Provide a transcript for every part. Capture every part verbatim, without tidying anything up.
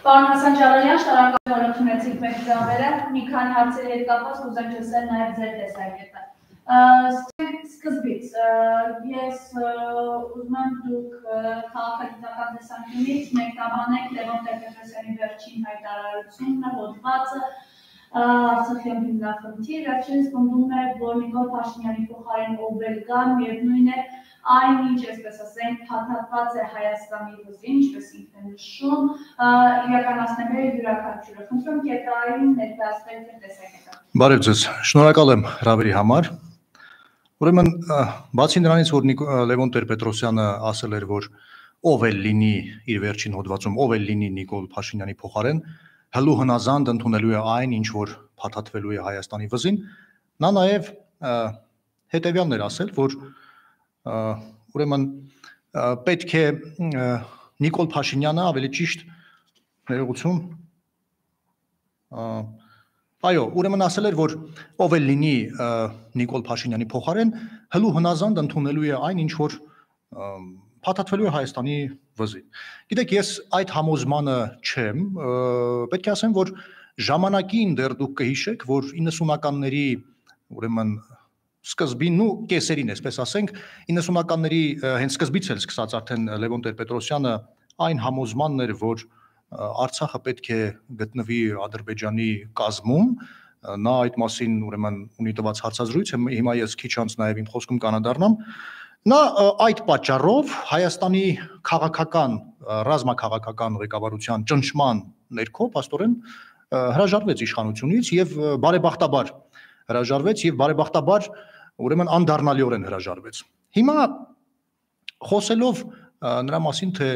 Պարոն Հասան Ջալալյան, շնորհակալ եմ, որ ընդունեցիք մեր ծավալը։ Մի քանի հարցերի հետ կապված կուզեմ լսել նաև ձեր տեսակետը։ Սկզբից ես ուզում եմ դուք քաղաքագիտական տեսանկյունից մեկնաբանեք Լևոն Տեր-Պետրոսյանի վերջին հայտարարությունը, հոդվածը, Արցախյան հիմնախնդիր, վերջինս պնդում է, որ Նիկոլ Փաշինյանի փոխարեն ով էլ գա, միևնույն է, այն ինչ, այսպես ասենք, փաթաթված է Հայաստանի վզին, ինչպես ինքն է նշում, իրականացնել է յուրաքանչյուրը։ Խնդրում եմ կետային ներկայացնել ձեր տեսակետը։ Բարև ձեզ, շնորհակալ եմ հրավերի համար։ Ուրեմն, բացի նրանից, որ Լևոն Տեր-Պետրոսյանը ասել էր, որ ով էլ լինի իր վերջին հոդվածում, ով էլ լինի Նիկոլ Փաշինյանի փոխարեն, հլու հնազանդ ընդունելու է այն, ինչ որ փաթաթվելու է Հայաստանի վզին, նա նաև հետևյալն էր ասել, որ ուրեմն պետք է Նիկոլ Փաշինյանը ավելի ճիշտ ներողություն այո, ուրեմն ասել էր, որ ով էլ լինի Նիկոլ Փաշինյանի փոխարեն, հլու հնազանդ ընդունելու է այն, ինչ որ փաթաթվելու է Հայաստանի վզին։ Գիտեք, ես այդ համոզմանը չեմ, պետք է ասեմ, որ ժամանակին դեռ դուք կհիշեք, որ իննսունականների ուրեմն սկզբին, ու կեսերին, այսպես ասենք, իննսունականների հենց սկզբից էլ սկսած արդեն Լևոն Տեր-Պետրոսյանը այն համոզմանն էր, որ Արցախը պետք է գտնվի Ադրբեջանի կազմում, նա այդ մասին ուրեմն ունի տված հարցազրույց, հիմա ես քիչ անց նաև իմ խոսքում կանադառնամ, նա այդ պատճառով Հայաստանի քաղաքական, ռազմաքաղաքական ղեկավարության ճնշման ներքո փաստորեն հրաժարվեց իշխանությունից եւ բարեբախտաբար հրաժարվեց եւ բարեբախտաբար ուրեմն անդառնալիորեն հրաժարվեց։ Հիմա խոսելով նրա մասին, թե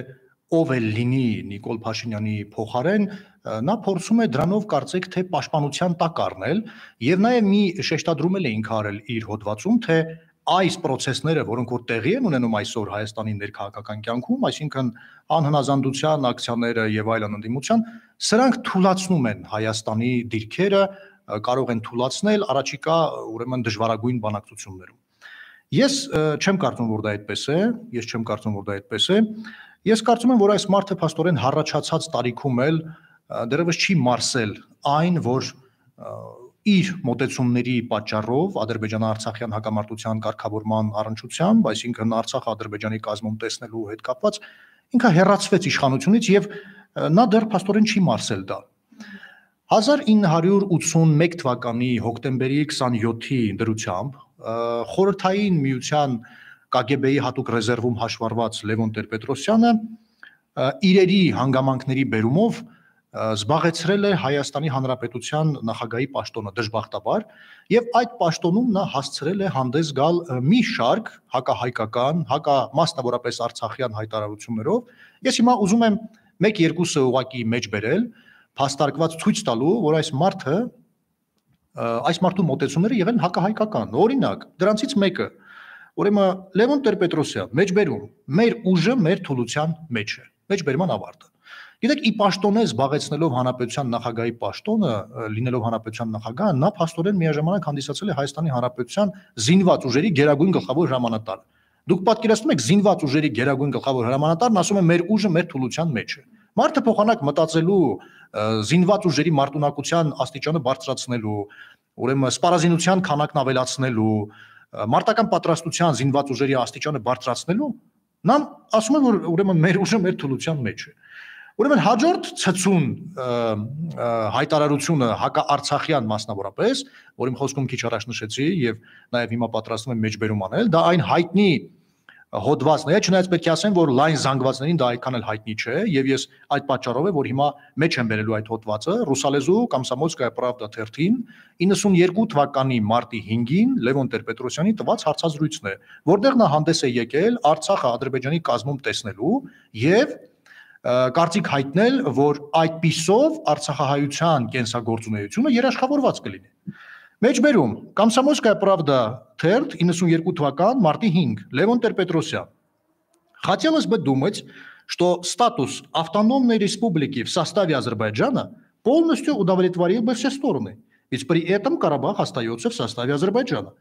ով էլ լինի Նիկոլ Փաշինյանի փոխարեն, նա փորձում է դրանով կարծեք թե պաշտպանության տակ առնել եւ նաեւ մի շեշտադրում էլ է ինքը արել իր հոդվածում, թե այս process-ները, որոնք որ տեղի են ունենում այսօր Հայաստանի ներքաղաքական կյանքում, այսինքն անհնազանդության ակցիաները եւ այլն ընդդիմության, սրանք թուլացնում են Հայաստանի դիրքերը, կարող են թուլացնել առաջիկա ուրեմն դժվարագույն բանակցություններում։ Ես չեմ կարծում, որ դա այդպես է, ես չեմ կարծում, որ դա այդպես է։ Ես կարծում եմ, որ այս մարդը փաստորեն հառաջացած տարիքում էլ դեռևս չի մարսել այն, որ իր մոտեցումների պատճառով Ադրբեջան-Արցախյան հակամարտության կարգավորման առնչությամբ, այսինքն Արցախը Ադրբեջանի կազմում տեսնելու հետ կապված, ինքը հեռացվեց իշխանությունից եւ նա դեռ փաստորեն չի մարսել դա։ հազար ինը հարյուր ութսունմեկ թվականի հոկտեմբերի քսանյոթի դրությամբ խորհրդային միության Կ Գ B-ի հատուկ ռեզերվում հաշվառված Լևոն Տեր-Պետրոսյանը իրերի հանգամանքների բերումով զբաղեցրել է Հայաստանի Հանրապետության նախագահի պաշտոնը դժբախտաբար եւ այդ պաշտոնում նա հասցրել է հանդես գալ մի շարք հակահայկական, հակա մասնավորապես արցախյան հայտարարություններով։ Ես հիմա ուզում եմ մեկ-երկուսը ուղակի մեջ բերել, փաստարկված ցույց տալու, որ այս մարդը այս մարդու մոտեցումները եղել են հակահայկական։ Օրինակ, դրանցից մեկը ուրեմն Լևոն Տեր-Պետրոսյան մեջբերում մեր ուժը մեր թուլության մեջ է, մեջբերման ավարտը։ Գիտեք, ի պաշտոնե զբաղեցնելով հանրապետության նախագահի պաշտոնը, լինելով հանրապետության նախագահ, նա փաստորեն միաժամանակ հանդիսացել է Հայաստանի հանրապետության զինված ուժերի գերագույն գլխավոր հրամանատար։ Դուք պատկերացնում եք զինված ուժերի գերագույն գլխավոր հրամանատարն ասում է մեր ուժը մեր թուլության մեջ է։ Մարդը փոխանակ մտածելու, զինված ուժերի մարտունակության աստիճանը բարձրացնելու, ուրեմն սպառազինության քանակն ավելացնելու, մարտական պատրաստության զինված ուժերի աստիճանը բարձրացնելու, նա ասում է, որ ուրեմն մեր ուժը մեր թուլության մեջ է։ Ուրեմն հաջորդ ցցուն հայտարարությունը հակաարցախյան մասնավորապես, որ իմ խոսքում քիչ առաջ նշեցի եւ նաեւ հիմա պատրաստվում եմ մեջբերում անել, դա այն հայտնի հոդվածն է, չնայած պետք է ասեմ, որ լայն զանգվածներին դա այդքան էլ հայտնի չէ եւ ես այդ պատճառով է, որ հիմա մեջ եմ բերելու այդ հոդվածը ռուսալեզու Կոմսոմոլսկայա Պրավդա թերթին իննսունյերկու թվականի մարտի հինգին Լևոն Տեր-Պետրոսյանի տված հարցազրույցն է, որտեղ նա հանդես է եկել Արցախը Ադրբեջանի կազմում տեսնելու եւ կարծիք հայտնել, որ այդպիսով արցախահայության կենսագործունեությունը երաշխավորված կլինի։ Մեջբերում Комсомольская правда թերթ իննսունյերկու թվական մարտի հինգ Левон Тер-Петросян. Хотелось бы думать, что статус автономной республики в составе Азербайджана полностью удовлетворил бы все стороны, ведь при этом Карабах остается в составе Азербайджана.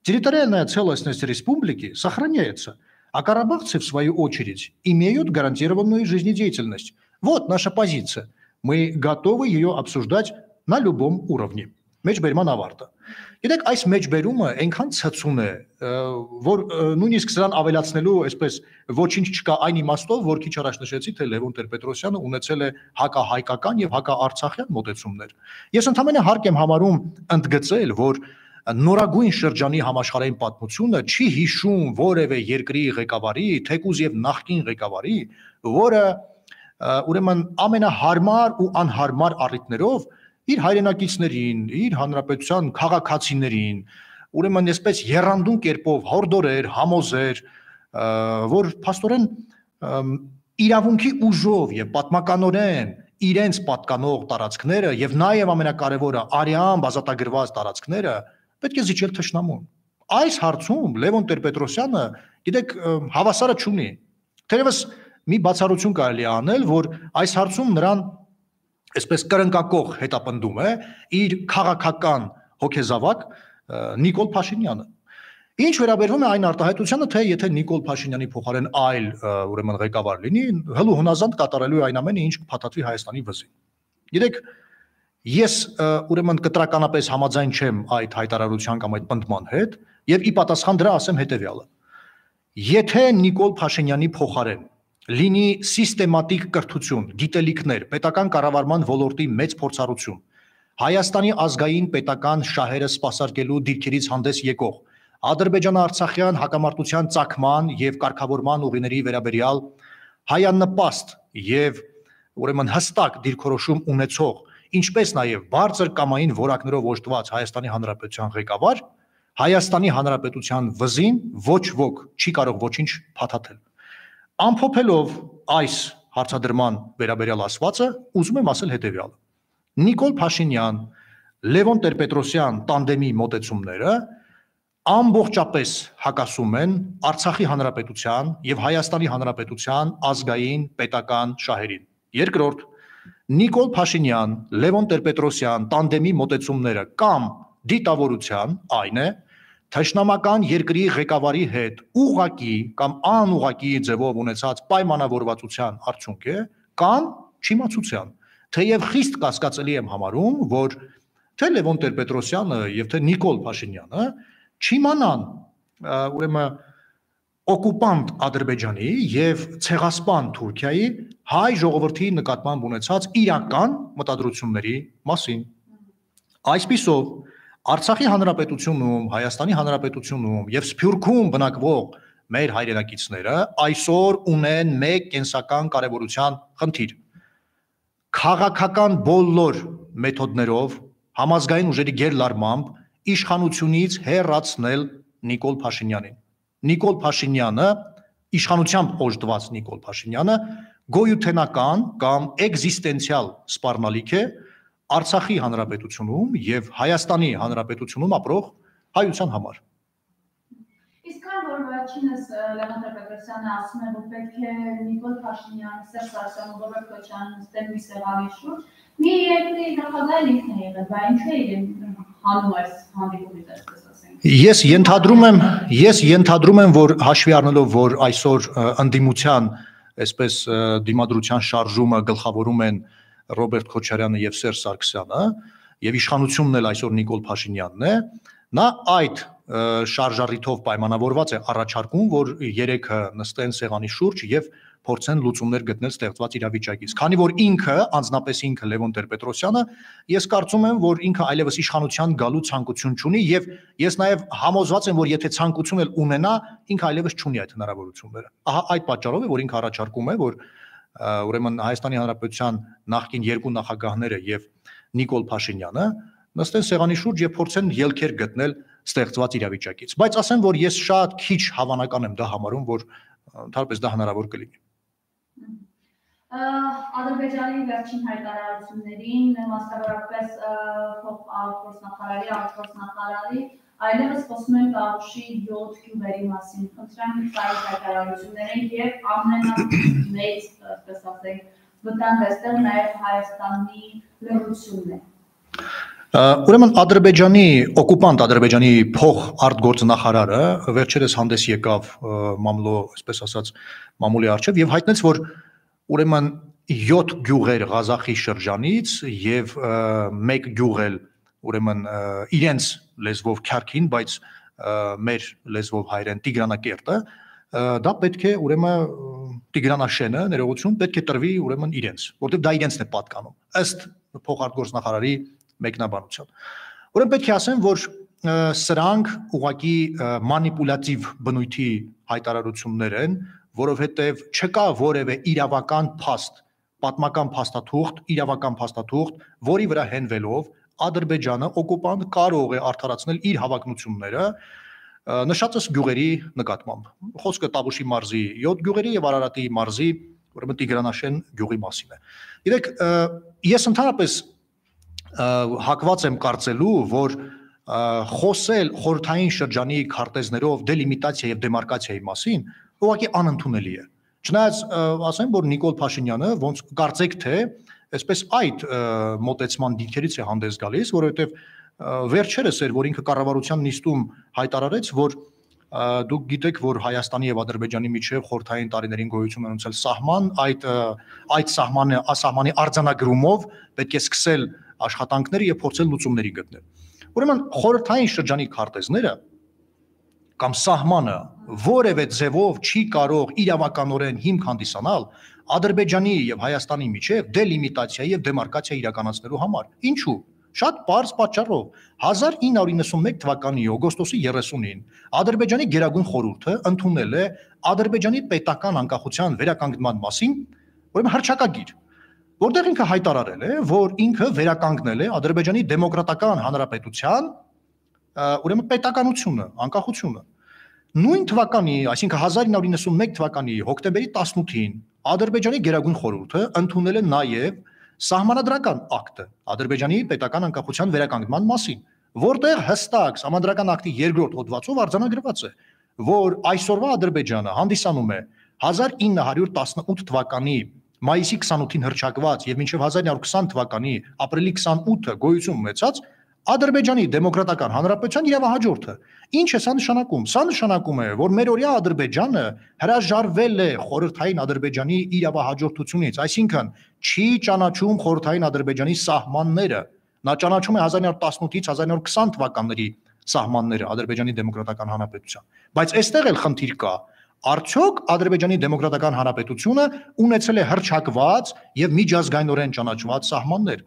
Территориальная целостность республики сохраняется, а карабахцы, в свою очередь, имеют гарантированную жизнедеятельность. Вот наша позиция. Мы готовы ее обсуждать на любом уровне. Մեջբերման ավարտը։ Գիտեք, այս մեջբերումը այնքան ցցուն է, որ նույնիսկ սրան ավելացնելու, այսպես ոչինչ չկա այն իմաստով, որ քիչ առաջ նշեցի, թե Լևոն Տեր-Պետրոսյանը ունեցել է հակահայկական եւ հակաարցախյան մոտեցումներ։ Ես ընդհանրապես հարկ եմ համարում ընդգծել, որ նորագույն շրջանի համաշխարհային պատմությունը չի հիշում որևէ երկրի ղեկավարի, թեկուզ եւ նախկին ղեկավարի, որը ուրեմն ամենահարմար ու անհարմար առիթներով իր հայրենակիցներին, իր հանրապետության քաղաքացիներին, ուրեմն այսպես եռանդուն կերպով հորդորեր, համոզեր, որ փաստորեն իրավունքի ուժով եւ պատմականորեն իրենց պատկանող տարածքները եւ նաեւ ամենակարևորը արյան բազատագրված տարածքները պետք է զիջել թշնամուն։ Այս հարցում Լևոն Տեր-Պետրոսյանը, գիտեք, հավասարը չունի։ Թերևս մի բացառություն կարելի է անել, որ այս հարցում նրան այսպես կրնկակող հետապնդում է իր քաղաքական հոգեզավակ Նիկոլ Փաշինյանը։ Ինչ վերաբերվում է այն արտահայտությանը, թե եթե Նիկոլ Փաշինյանի փոխարեն այլ ուրեմն ղեկավար լինի, հլու հնազանդ կատարելու է այն ամենը, ինչ կփաթաթվի Հայաստանի վզին։ Գիտեք, ես ուրեմն կտրականապես համաձայն չեմ այդ հայտարարության կամ այդ պնդման հետ, եւ ի պատասխան դրա ասեմ հետեւյալը։ Եթե Նիկոլ Փաշինյանի փոխարեն լինի սիստեմատիկ կրթություն, գիտելիքներ, պետական կառավարման ոլորտի մեծ փորձառություն, Հայաստանի ազգային պետական շահերը սպասարկելու դիրքերից հանդես եկող, Ադրբեջան-Արցախյան հակամարտության ծագման եւ կարգավորման ուղիների վերաբերյալ հայանպաստ եւ ուրեմն հստակ դիրքորոշում ունեցող, ինչպես նաեւ բարձր կամային որակներով օժտված Հայաստանի Հանրապետության ղեկավար, Հայաստանի Հանրապետության վզին ոչ ոք չի կարող ոչինչ փաթաթել։ Ամփոփելով այս հարցադրման վերաբերյալ ասվածը, ուզում եմ ասել հետևյալը. Նիկոլ Փաշինյան, Լևոն Տեր-Պետրոսյան տանդեմի մոտեցումները ամբողջապես հակասում են Արցախի Հանրապետության եւ Հայաստանի Հանրապետության ազգային պետական շահերին։ Երկրորդ, Նիկոլ Փաշինյան, Լևոն Տեր-Պետրոսյան տանդեմի մոտեցումները կամ դիտավորության այն է, թշնամական երկրի ղեկավարի հետ ուղղակի կամ անուղղակի ձևով ունեցած պայմանավորվածության արդյունք է կամ չիմացության։ Թեև խիստ կասկածելի եմ համարում, որ թե Լևոն Տեր-Պետրոսյանը եւ թե Նիկոլ Փաշինյանը չիմանան ուրեմն օկուպանտ Ադրբեջանի եւ ցեղասպան Թուրքիայի հայ ժողովրդի նկատմամբ ունեցած իրական մտադրությունների մասին։ Այսպիսով Արցախի Հանրապետությունում, Հայաստանի Հանրապետությունում եւ Սփյուռքում բնակվող մեր հայրենակիցները այսօր ունեն մեկ կենսական կարևորության խնդիր։ Քաղաքական բոլոր մեթոդներով համազգային ուժերի գերլարմամբ իշխանությունից հեռացնել Նիկոլ Փաշինյանին։ Նիկոլ Փաշինյանը, իշխանությամբ օժտված Նիկոլ Փաշինյանը գոյութենական կամ էգզիստենցիալ սպառնալիք է Արցախի Հանրապետությունում եւ Հայաստանի Հանրապետությունում ապրող հայության համար։ Իսկ քան որ վերջինս Լևոն Տեր-Պետրոսյանը ասում է, որ պետք է Նիկոլ Փաշինյանը, Սերժ Սարգսյանը, Ռոբերտ Քոչարյանը նստեն մի սեղանի շուրջ, մի երկրի նախագահ ինքն է եղել, բայց ինչու է իրեն հանում այս հանդիպումից, այսպես ասենք։ Ես ենթադրում եմ, ես ենթադրում եմ, որ հաշվի առնելով, որ այսօր ընդդիմության, այսպես դիմադրության շարժումը գլխավորում են Ռոբերտ Քոչարյանը եւ Սերժ Սարգսյանը եւ իշխանությունն էլ այսօր Նիկոլ Փաշինյանն է, նա այդ շարժառիթով պայմանավորված է առաջարկում, որ երեքը նստեն սեղանի շուրջ եւ փորձեն լուծումներ գտնել ստեղծված իրավիճակից։ Քանի որ ինքը, անձնապես ինքը Լևոն Տեր-Պետրոսյանը, ես կարծում եմ, որ ինքը այլևս իշխանության գալու ցանկություն չունի եւ ես նաեւ համոզված եմ, որ եթե ցանկություն էլ ունենա, ինքը այլևս չունի այդ հնարավորությունները։ Ահա այդ պատճառով է, որ ինքը առաջարկում է, որ ուրեմն Հայաստանի Հանրապետության նախկին երկու նախագահները եւ Նիկոլ Փաշինյանը նստեն սեղանի շուրջ եւ փորձեն ելքեր գտնել ստեղծված իրավիճակից։ Բայց ասեմ, որ ես շատ քիչ հավանական եմ դա համարում, որ ընդհանրապես դա հնարավոր կլինի։ Ադրբեջանի վերջին հայտարարություններին, մասնավորապես փոխնախարարի, արտգործնախարարի, այլևս խոսում են Տավուշի յոթ գյուղերի մասին։ Խնդրեմ այս հայտարարություններին եւ ամենամեծ, այսպես ասենք, վտանգ այստեղ նաեւ Հայաստանի լրությունն է։ Ուրեմն Ադրբեջանի օկուպանտ Ադրբեջանի փող արտգործնախարարը վերջերս հանդես եկավ մամլո, այսպես ասած, մամուլի առջև եւ հայտնեց, որ ուրեմն յոթ գյուղեր Ղազախի շրջանից եւ մեկ գյուղ էլ ուրեմն իրենց լեզվով Քյարքին, բայց մեր լեզվով հայերեն Տիգրանակերտը, դա պետք է ուրեմն Տիգրանաշենը ներողություն պետք է տրվի ուրեմն իրենց, որտեղ դա իրենցն է պատկանում, ըստ փոխարտգործնախարարի մեկնաբանության։ Ուրեմն պետք է ասեմ, որ սրանք ուղղակի մանիպուլատիվ բնույթի հայտարարություններ են, որովհետև չկա որևէ իրավական փաստ, պատմական փաստաթուղթ, իրավական փաստաթուղթ, որի վրա հենվելով Ադրբեջանը օկուպանտ կարող է արդարացնել իր հավակնությունները նշածս գյուղերի նկատմամբ։ Խոսքը Տավուշի մարզի յոթ գյուղերի եւ Արարատի մարզի ուրեմն Տիգրանաշեն գյուղի մասին է։ Գիտեք, ես ընդհանրապես հակված եմ կարծելու, որ խոսել խորհրդային շրջանի քարտեզներով դելիմիտացիա եւ դեմարկացիայի մասին ուղղակի անընդունելի է։ Չնայած ասեմ, որ Նիկոլ Փաշինյանը ոնց կարծեք թե այսպես այդ մոտեցման դիրքերից է հանդես գալիս, որովհետեւ վերջերս էր, որ ինքը կառավարության նիստում հայտարարեց, որ դուք գիտեք, որ Հայաստանի եւ Ադրբեջանի միջեւ խորհրդային տարիներին գոյություն ունեցել սահման, այդ այդ սահմանը սահմանի արձանագրումով պետք է սկսել աշխատանքները եւ փորձել լուծումների գտնել։ Ուրեմն խորհրդային շրջանի քարտեզները կամ սահմանը որևէ ձևով չի կարող իրավականորեն հիմք հանդիսանալ Ադրբեջանի եւ Հայաստանի միջեւ դելիմիտացիա եւ դեմարկացիա իրականացնելու համար։ Ինչու՞։ Շատ պարզ պատճառով հազար ինը հարյուր իննսունմեկ թվականի օգոստոսի երեսունին Ադրբեջանի Գերագույն խորհուրդը ընդունել է Ադրբեջանի պետական անկախության վերականգնման մասին ուրեմն հռչակագիր, որտեղ ինքը հայտարարել է, որ ինքը վերականգնել է Ադրբեջանի դեմոկրատական հանրապետության ուրեմն պետականությունը, անկախությունը։ Նույն թվականի, այսինքն հազար ինը հարյուր իննսունմեկ թվականի հոկտեմբերի տասնութին Ադրբեջանի Գերագույն խորհուրդը ընդունել է նաև Սահմանադրական ակտը Ադրբեջանի պետական անկախության վերականգնման մասին, որտեղ հստակ Սահմանադրական ակտի երկրորդ հոդվածով արձանագրված է, որ այսօրվա Ադրբեջանը հանդիսանում է հազար ինը հարյուր տասնութ թվականի մայիսի քսանութին հռչակված եւ մինչեւ հազար ինը հարյուր քսան թվականի ապրիլի քսանութը գոյություն ունեցած Ադրբեջանի դեմոկրատական հանրապետության իրավահաջորդը։ Ինչ է սա նշանակում։ Սա նշանակում է, որ մերօրյա Ադրբեջանը հրաժարվել է խորհրդային Ադրբեջանի իրավահաջորդությունից, այսինքն չի ճանաչում խորհրդային Ադրբեջանի սահմանները։ Նա ճանաչում է հազար ինը հարյուր տասնութից հազար ինը հարյուր քսան թվականների սահմանները Ադրբեջանի դեմոկրատական հանրապետության։ Բայց այստեղ էլ խնդիր կա։ Արդյոք Ադրբեջանի դեմոկրատական հանրապետությունը ունեցել է հռչակված եւ միջազգայինորեն ճանաչված սահմաններ։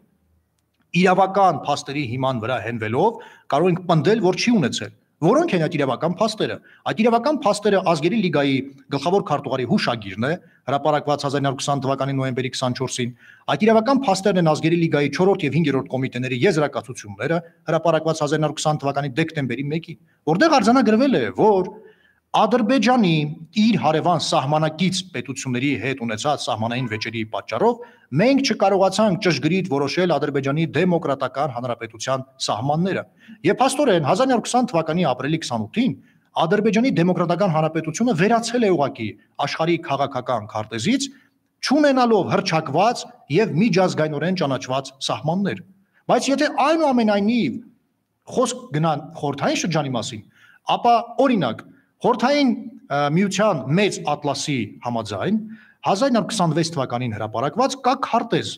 Իրավական փաստերի հիման վրա հենվելով կարող ենք պնդել, որ չի ունեցել։ Որոնք են այդ իրավական փաստերը։ Այդ իրավական փաստերը Ազգերի լիգայի գլխավոր քարտուղարի հուշագիրն է, հրապարակված հազար ինը հարյուր քսան թվականի նոյեմբերի քսանչորսին։ Այդ իրավական փաստերն են Ազգերի լիգայի չորրորդ եւ հինգերորդ կոմիտեների եզրակացությունները, հրապարակված հազար ինը հարյուր քսան թվականի դեկտեմբերի մեկին, որտեղ արձանագրվել է, որ Ադրբեջանի իր հարևան սահմանակից պետությունների հետ ունեցած սահմանային վեճերի պատճառով մենք չկարողացանք ճշգրիտ որոշել Ադրբեջանի դեմոկրատական հանրապետության սահմանները։ Եվ փաստորեն հազար ինը հարյուր քսան թվականի ապրիլի քսանութին Ադրբեջանի դեմոկրատական հանրապետությունը վերացել է ուղղակի աշխարհի քաղաքական քարտեզից, չունենալով հռչակված եւ միջազգայինորեն ճանաչված սահմաններ։ Բայց եթե այնուամենայնիվ խոսք գնան խորհրդային շրջանի մասին, ապա օրինակ Խորհրդային միության մեծ ատլասի համաձայն հազար ինը հարյուր քսանվեց թվականին հրապարակված կա քարտեզ,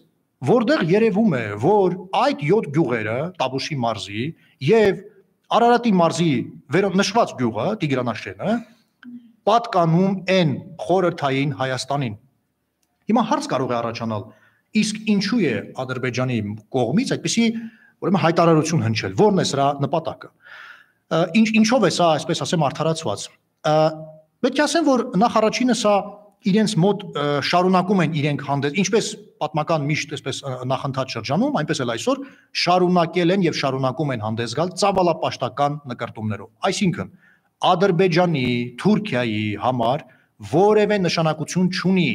որտեղ երևում է, որ այդ յոթ գյուղերը Տավուշի մարզի եւ Արարատի մարզի վերոնշված գյուղը Տիգրանաշենը պատկանում են խորհրդային Հայաստանին։ Հիմա հարց կարող է առաջանալ, իսկ ինչու է Ադրբեջանի կողմից այդպիսի ուրեմն հայտարարություն հնչել, որն է սրա նպատակը։ Ինչ ինչով է սա, այսպես ասեմ, արդարացված։ Պետք է ասեմ, որ նախ առաջինը սա իրենց մոտ շարունակում են իրենք հանդես, ինչպես պատմական միշտ այսպես նախընթաց շրջանում, այնպես էլ այսօր շարունակել են եւ շարունակում են հանդես գալ ծավալապաշտական նկարտումներով։ Այսինքն Ադրբեջանի, Թուրքիայի համար որևէ նշանակություն չունի,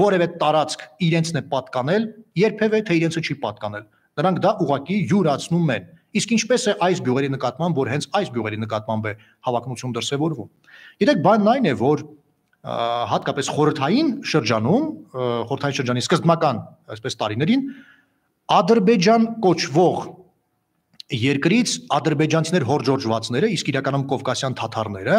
որևէ տարածք իրենցն է պատկանել, երբևէ թե իրենցը չի պատկանել։ Նրանք դա ուղղակի յուրացնում են։ Իսկ ինչպես է այս գյուղերի նկատմամբ, որ հենց այս գյուղերի նկատմամբ է հավակնություն դրսևորվում։ Գիտեք, բանն այն է, որ հատկապես խորհրդային շրջանում, խորհրդային շրջանի սկզբնական, այսպես տարիներին Ադրբեջան կոչվող երկրից ադրբեջանցիներ հորժորժվածները, իսկ իրականում կովկասյան թաթարները,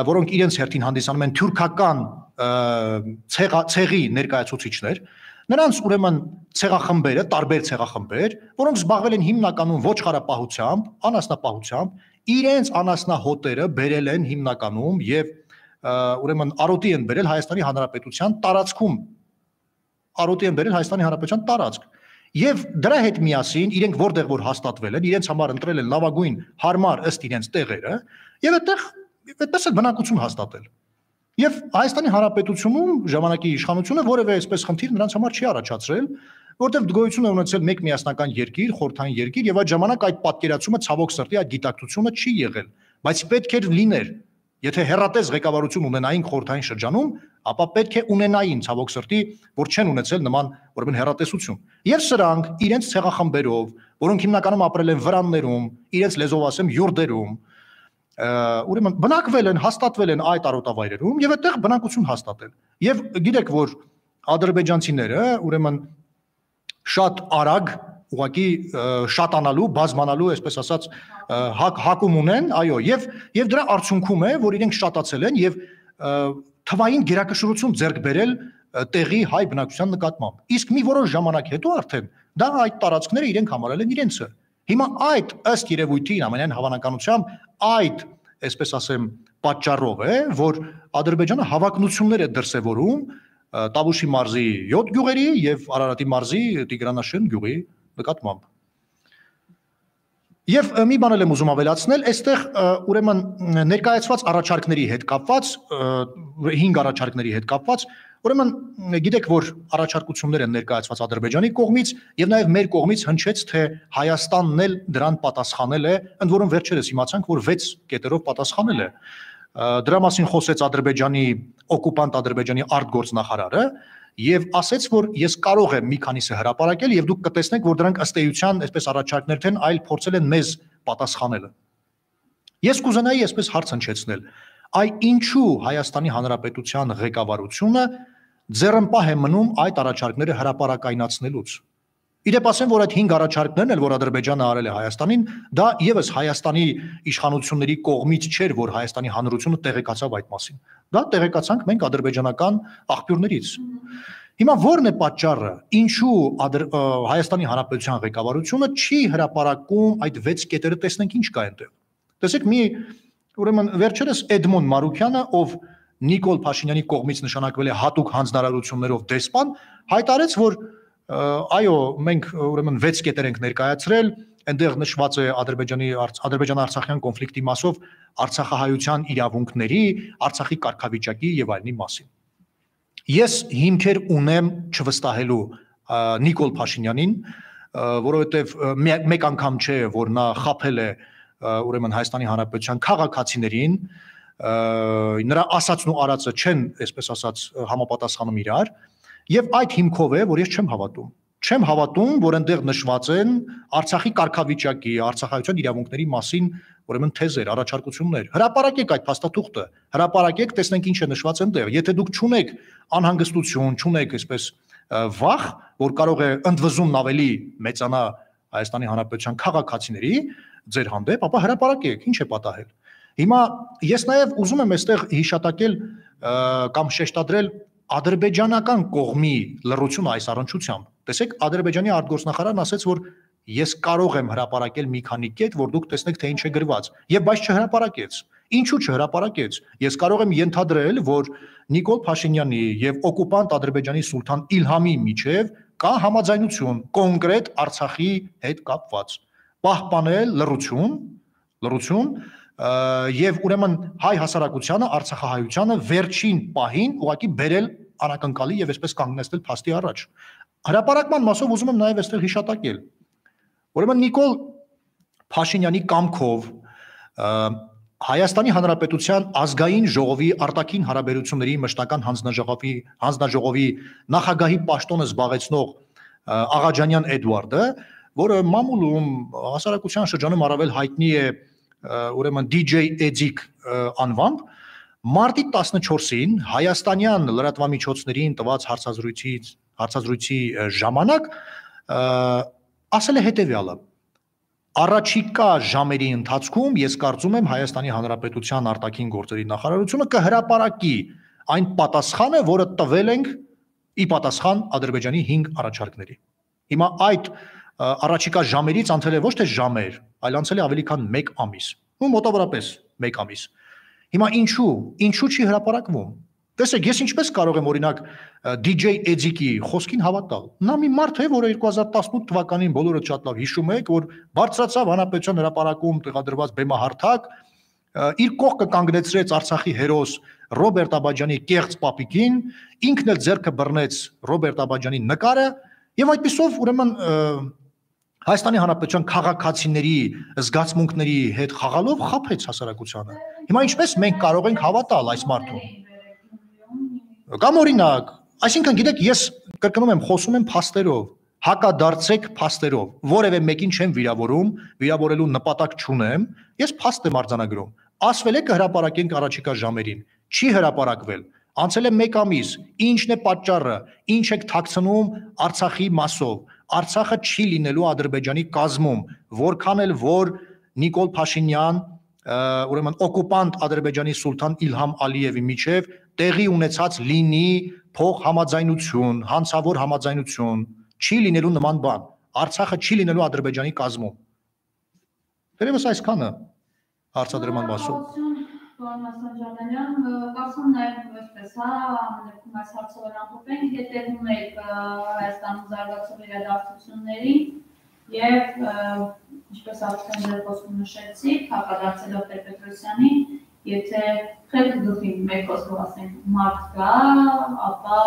որոնք իրենց հերթին հանդիսանում են թուրքական ցեղի ներկայացուցիչներ, նրանց ուրեմն ցեղախմբերը, տարբեր ցեղախմբեր, որոնք զբաղվել են հիմնականում ոչխարապահությամբ, անասնապահությամբ, իրենց անասնահոտերը բերել են հիմնականում եւ ուրեմն արոտի են բերել Հայաստանի Հանրապետության տարածքում, արոտի են բերել Հայաստանի Հանրապետության տարածք։ Եվ դրա հետ միասին իրենք որտեղ որ հաստատվել են, իրենց համար ընտրել են լավագույն հարմար ըստ իրենց տեղերը, եւ այդտեղ այդպես է բնակություն հաստատել։ Եվ Հայաստանի Հանրապետությունում ժամանակի իշխանությունը որևէ այսպես խնդիր նրանց համար չի առաջացրել, որտեղ գոյություն է ունեցել մեկ միասնական երկիր, խորհրդային երկիր, եւ այդ ժամանակ այդ պատկերացումը ցավոք սրտի այդ գիտակցությունը չի եղել, բայց պետք էր լիներ։ Եթե հերատես ղեկավարություն ունենային խորհրդային շրջանում, ապա պետք է ունենային ցավոք սրտի, որ չեն ունեցել նման ուրեմն հերատեսություն։ Եվ սրանք իրենց ցեղախմբերով, որոնք հիմնականում ապրել են վրաններում, իրենց լեզվով ասեմ յուրդերում, ուրեմն բնակվել են, հաստատվել են այդ արոտավայրերում եւ այդտեղ բնակություն հաստատել։ Եվ գիտեք, որ ադրբեջանցիները ուրեմն շատ արագ ուղղակի շատանալու, բազմանալու, այսպես ասած, հակում ունեն, այո, եւ եւ դրա արդյունքում է, որ իրենք շատացել են եւ թվային գերակշռություն ձեռք բերել տեղի հայ բնակչության նկատմամբ։ Իսկ մի որոշ ժամանակ հետո արդեն դա այդ տարածքները իրենք համարել են իրենցը։ Հիմա այդ ըստ երևույթին ամենայն հավանականությամբ այդ, այսպես ասեմ, պատճառով է, որ Ադրբեջանը հավակնություններ է դրսևորում Տավուշի մարզի յոթ գյուղերի եւ Արարատի մարզի Տիգրանաշեն գյուղի նկատմամբ։ Եվ մի բան էլ եմ ուզում ավելացնել, այստեղ ուրեմն ներկայացված առաջարկների հետ կապված, հինգ առաջարկների հետ կապված, ուրեմն գիտեք, որ առաջարկություններ են ներկայացված Ադրբեջանի կողմից եւ նաեւ մեր կողմից հնչեց, թե Հայաստանն էլ դրան պատասխանել է, ընդ որում վերջերս իմացանք, որ վեց կետերով պատասխանել է։ Դրա մասին խոսեց Ադրբեջանի օկուպանտ Ադրբեջանի արտգործնախարարը եւ ասեց, որ ես կարող եմ մի քանիսը հրապարակել եւ դուք կտեսնեք, որ դրանք ըստ էության այսպես առաջարկներ չեն, այլ փորձել են մեզ պատասխանելը։ Ես կուզենայի այսպես հարց հնչեցնել. այ ինչու Հայաստանի Հանրապետության ղեկավարությունը ձեռնպահ է մնում այդ առաջարկները հրապարակայնացնելուց։ Իդեպ ասեմ, որ այդ հինգ առաջարկներն էլ, որ Ադրբեջանը արել է Հայաստանին, դա եւս Հայաստանի իշխանությունների կողմից չէր, որ Հայաստանի հանրությունը տեղեկացավ այդ մասին։ Դա տեղեկացանք մենք ադրբեջանական աղբյուրներից։ Հիմա ո՞րն է պատճառը, ինչու Հայաստանի Հանրապետության ղեկավարությունը չի հրապարակում այդ վեց կետերը, տեսնենք ինչ կա այնտեղ։ Տեսեք, մի ուրեմն վերջերս Էդմոն Մարուքյանը, ով Նիկոլ Փաշինյանի կողմից նշանակվել է հատուկ հանձնարարություններով դեսպան, հայտարարեց, որ այո, մենք ուրեմն վեց կետեր ենք ներկայացրել, այնտեղ նշված է Ադրբեջանի Ադրբեջան-Արցախյան կոնֆլիկտի մասով Արցախահայության իրավունքների, Արցախի կարգավիճակի եւ այլնի մասին։ Ես հիմքեր ունեմ չվստահելու Նիկոլ Փաշինյանին, որովհետեւ մեկ անգամ չէ, որ նա խաբել է ուրեմն Հայաստանի Հանրապետության քաղաքացիներին, նրա ասածն ու արածը չեն, այսպես ասած, համապատասխանում իրար, եւ այդ հիմքով է, որ ես չեմ հավատում։ Չեմ հավատում, որ այնտեղ նշված են Արցախի կարգավիճակի, Արցախայության իրավունքների մասին ուրեմն թեզեր, առաջարկություններ։ Հրապարակեք այդ փաստաթուղթը, հրապարակեք, տեսնենք ինչ է նշված այնտեղ։ Եթե դուք չունեք անհանգստություն, չունեք այսպես վախ, որ կարող է ընդվզումն ավելի մեծանա Հայաստանի Հանրապետության քաղաքացիների ձեր հանդեպ, ապա հրապարակեք, ինչ է պատահել։ Հիմա ես նաև ուզում եմ այստեղ հիշատակել կամ շեշտադրել ադրբեջանական կողմի լռությունը այս առնչությամբ։ Տեսեք, Ադրբեջանի արտգործնախարարն ասաց, որ ես կարող եմ հրապարակել մի քանի կետ, որ դուք տեսնեք, թե ինչ է գրված, եւ բայց չհրապարակեց։ Ինչու չհրապարակեց։ Ես կարող եմ ենթադրել, որ Նիկոլ Փաշինյանի եւ օկուպանտ Ադրբեջանի սուլթան Իլհամի միջև կա համաձայնություն կոնկրետ Արցախի հետ կապված։ Պահպանել լռություն, լռություն եւ ուրեմն հայ հասարակությանը, Արցախահայությանը վերջին պահին ուղղակի բերել անակնկալի եւ այսպես կանգնեցնել փաստի առաջ։ Հրապարակման մասով ուզում եմ նաեւ այստեղ հիշատակել։ Ուրեմն Նիկոլ Փաշինյանի կամքով Հայաստանի Հանրապետության ազգային ժողովի արտաքին հարաբերությունների մշտական հանձնաժողովի հանձնաժողովի նախագահի պաշտոնը զբաղեցնող Աղաջանյան Էդուարդը, որը մամուլում հասարակության շրջանում առավել հայտնի է ուրեմն դի ջեյ Էդիկ անվամբ, մարտի տասնչորսին հայաստանյան լրատվամիջոցներին տված հարցազրույցի հարցազրույցի ժամանակ ասել է հետևյալը. Առաջիկա ժամերի ընթացքում ես կարծում եմ Հայաստանի Հանրապետության արտաքին գործերի նախարարությունը կհրապարակի այն պատասխանը, որը տվել ենք ի պատասխան Ադրբեջանի հինգ առաջարկների։ Հիմա այդ առաջիկա ժամերից անցել է ոչ թե ժամեր, այլ անցել է ավելի քան մեկ ամիս, ու մոտավորապես մեկ ամիս։ Հիմա ինչու, ինչու չի հրապարակվում։ Տեսեք, ես ինչպես կարող եմ օրինակ դի ջեյ Էձիկի խոսքին հավատալ։ Նա մի մարդ է, որը երկու հազար տասնութ թվականին բոլորը շատ լավ հիշում եք, որ բարձրացավ Հանրապետության հրապարակում տեղադրված բեմահարթակ, իր կողքը կանգնեցրեց Արցախի հերոս Ռոբերտ Աբաջյանի կեղծ պապիկին, ինքն էլ ձեռքը բռնեց Ռոբերտ Աբաջյանի նկարը, եւ այդպիսով ուրեմն Հայաստանի Հանրապետության քաղաքացիների զգացմունքների հետ խաղալով խաբեց հասարակությանը։ Հիմա ինչպես մենք կարող ենք հավատալ այս մարդուն։ Կամ օրինակ, այսինքն գիտեք, ես կրկնում եմ, խոսում եմ փաստերով, հակադարձեք փաստերով, որևէ մեկին չեմ վիրավորում, վիրավորելու նպատակ չունեմ, ես փաստ եմ արձանագրում։ Ասվել է կհրապարակենք առաջիկա ժամերին, չի հրապարակվել, անցել է մեկ ամիս, ինչն է պատճառը, ինչ եք թաքցնում Արցախի մասով, Արցախը չի լինելու Ադրբեջանի կազմում, որքան էլ որ Նիկոլ Փաշինյան, ուրեմն օկուպանտ Ադրբեջանի սուլթան Իլհամ Ալիևի միջև տեղի ունեցած լինի փող համաձայնություն, հանցավոր համաձայնություն, չի լինելու նման բան, Արցախը չի լինելու Ադրբեջանի կազմում։ Դերևս այսքանը հարցադրման մասով։ Պարոն Ջանալյան, կարծում նաև այսպես, հա, ամենակում այս հարցով ամփոփենք, հետևում եք Հայաստանում զարգացող իրադարձություններին եւ ինչպես արդեն ձեր խոսքում նշեցիք, հակադարձելով Տեր-Պետրոսյանին, եթե խելք գլխի մեկ խոսքով ասենք մարդ կա, ապա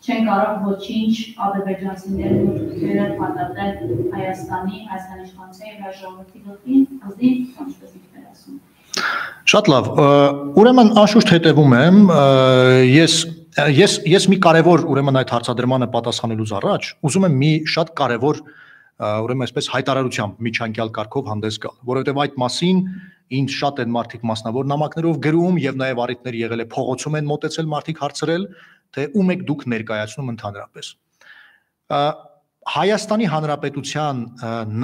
չեն կարող ոչինչ ադրբեջանցիների մուտքերը փաթաթել Հայաստանի, Հայաստանի իշխանության եւ հայ ժողովրդի գլխին, ազդին, ինչպես ինքն ասում։ Շատ լավ, ուրեմն անշուշտ հետևում եմ, ես ես ես մի կարևոր ուրեմն այդ հարցադրմանը պատասխանելուց առաջ ուզում եմ մի շատ կարևոր ուրեմն այսպես հայտարարությամբ միջանկյալ կարգով հանդես գալ, որովհետև այդ մասին ինձ շատ են մարդիկ մասնավոր նամակներով գրում եւ նաեւ առիթներ եղել է փողոցում են մոտեցել մարդիկ հարցրել, թե ում եք դուք ներկայացնում ընդհանրապես։ Հայաստանի Հանրապետության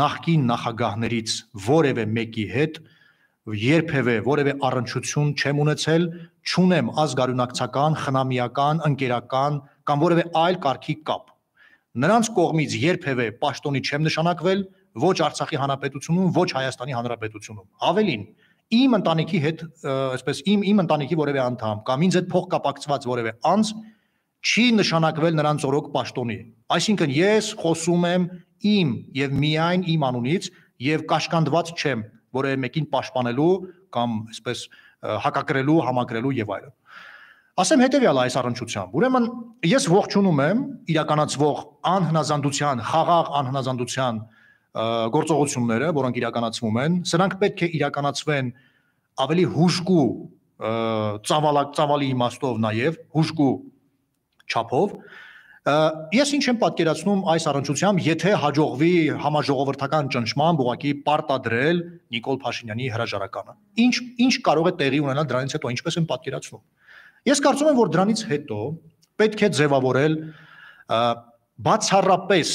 նախկին նախագահներից որևէ մեկի հետ երբևէ որևէ առնչություն չեմ ունեցել, չունեմ ազգարունակցական, խնամիական, ընկերական կամ որևէ այլ կարգի կապ։ Նրանց կողմից երբևէ պաշտոնի չեմ նշանակվել ոչ Արցախի Հանրապետությունում, ոչ Հայաստանի Հանրապետությունում։ Ավելին, իմ ընտանիքի հետ, այսպես իմ իմ ընտանիքի որևէ անդամ կամ ինձ հետ փոխկապակցված որևէ անձ չի նշանակվել նրանց օրոք պաշտոնի։ Այսինքն ես խոսում եմ իմ եւ միայն իմ անունից եւ կաշկանդված չեմ որևէ մեկին պաշտպանելու կամ այսպես հակակրելու, համակրելու եւ այլն։ Ասեմ հետեւյալը այս առնչությամբ։ Ուրեմն ես ողջունում եմ իրականացվող անհնազանդության, խաղաղ անհնազանդության գործողությունները, որոնք իրականացվում են, սրանք պետք է իրականացվեն ավելի հուժկու ծավալակ ծավալի իմաստով նաեւ հուժկու չափով։ Ես ինչ եմ պատկերացնում այս առնչությամբ, եթե հաջողվի համաժողովրդական ճնշմամբ ուղղակի պարտադրել Նիկոլ Փաշինյանի հրաժարականը։ Ինչ ինչ կարող է տեղի ունենալ դրանից հետո, ինչպես եմ պատկերացնում։ Ես կարծում եմ, որ դրանից հետո պետք է ձևավորել բացառապես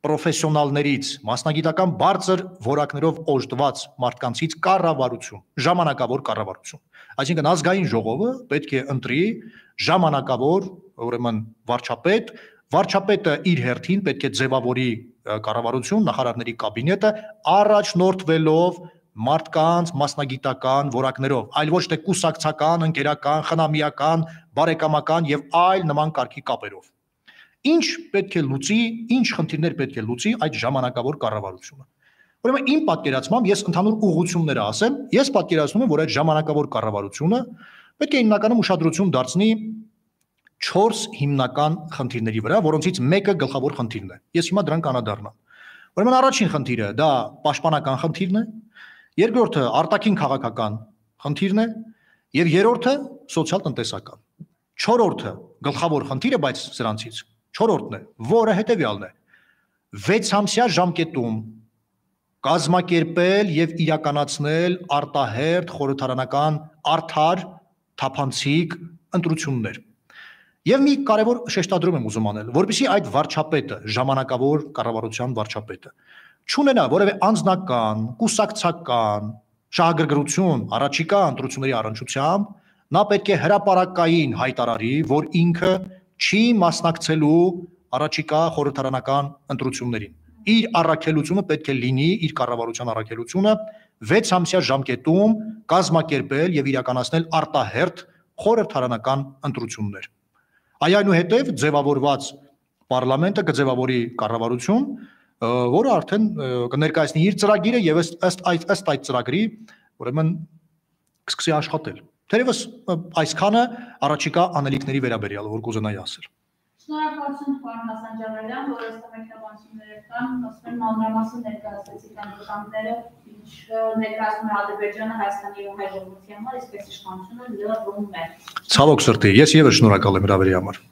պրոֆեսիոնալներից, մասնագիտական բարձր որակներով օժտված մարդկանցից կառավարություն, ժամանակավոր կառավարություն։ Այսինքն ազգային ժողովը պետք է ընտրի ժամանակավոր, ուրեմն վարչապետ, վարչապետը իր հերթին պետք է ձևավորի կառավարություն, նախարարների կաբինետը առաջնորդվելով մարդկանց մասնագիտական որակներով, այլ ոչ թե կուսակցական, ընկերական, խնամիական, բարեկամական եւ այլ նման կարգի կապերով։ Ինչ պետք է լուծի, ինչ խնդիրներ պետք է լուծի այդ ժամանակավոր կառավարությունը։ Ուրեմն իմ պատկերացմամբ ես ընդհանուր ուղղությունները ասեմ, ես պատկերացնում եմ, որ այդ ժամանակավոր կառավարությունը պետք է հիմնականում ուշադրություն դարձնի չորս հիմնական խնդիրների վրա, որոնցից մեկը գլխավոր խնդիրն է։ Ես հիմա դրան կանադառնամ։ Ուրեմն առաջին խնդիրը դա պաշտպանական խնդիրն է, երկրորդը արտաքին քաղաքական խնդիրն է եւ երրորդը սոցիալ-տնտեսական։ Չորրորդը գլխավոր խնդիրը, բայց սրանցից չորրորդն է, որը հետեւյալն է. վեցամսյա ժամկետում կազմակերպել եւ իրականացնել արտահերթ խորհրդարանական արդար թափանցիկ ընտրություններ։ Եվ մի կարևոր շեշտադրում եմ ուզում անել, որպեսզի այդ վարչապետը, ժամանակավոր կառավարության վարչապետը, չունենա որևէ անձնական, կուսակցական շահագրգռություն առաջիկա ընտրությունների առնչությամբ, նա պետք է հրապարակային հայտարարի, որ ինքը չի մասնակցելու առաջիկա խորհրդարանական ընտրություններին։ Իր առաքելությունը պետք է լինի, իր կառավարության առաքելությունը վեց ամսյա ժամկետում կազմակերպել եւ իրականացնել արտահերթ խորհրդարանական ընտրություններ։ Այնուհետև ձևավորված պարլամենտը կձևավորի կառավարություն, որը արդեն կներկայացնի իր ծրագիրը եւ ըստ ըստ այդ ծրագրի, ուրեմն կսկսի աշխատել։ Թերևս այսքանը առաջիկա անելիքների վերաբերյալ, որ կուզենայի ասել։ Շնորհակալություն պարոն Հասանջանյան, որ այս մեկնաբանությունները կան, ասում եմ մանրամասն ներկայացրեցիք անձնականները, ինչ ներկայացնում է Ադրբեջանը Հայաստանի ու հայ ժողովրդի համար, իսկ այս իշխանությունը լրում է։ Ցավոք սրտի, ես եւս շնորհակալ եմ հրավերի համար։